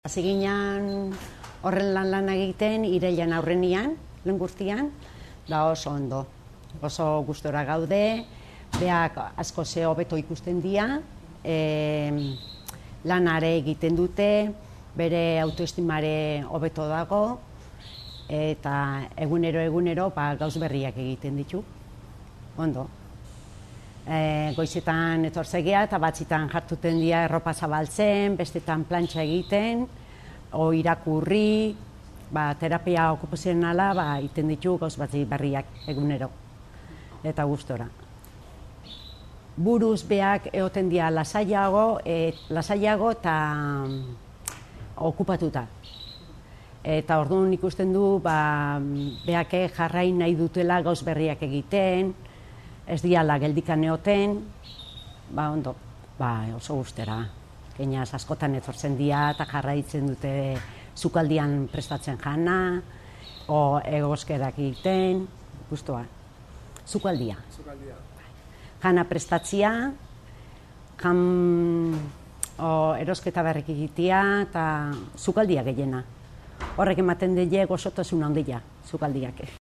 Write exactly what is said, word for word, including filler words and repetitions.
Hasi ginen horren lan lan egiten irailean aurrenian, lehen guztian, da oso ondo. Oso gustora gaude, beak asko ze hobeto ikusten dira, e, lanare egiten dute, bere autoestimare hobeto dago, eta egunero egunero ba, gauz berriak egiten ditu. Ondo. E, goizetan etorzegea eta batzitan jartuten dira erropa zabaltzen, bestetan plantxa egiten, o irakurri, ba, terapia okupazionala ba, iten ditu gauz batzi berriak egunero, eta gustora. Buruz beak egoten dira lasaiago, e, lasaiago eta okupatuta. Eta orduan ikusten du ba, beak jarrain nahi dutela gauz berriak egiten, ez diala geldikan egoten, ba ondo, ba oso gustera. Keinaz askotan etortzen dira eta jarraitzen dute sukaldian prestatzen jana, o egoskerak egiten, gustoa. Sukaldia. Sukaldia. Jana prestatzia, jan o, erosketa berrik egitea eta sukaldia gehiena. Horrek ematen dile gozotasun handia, sukaldiak.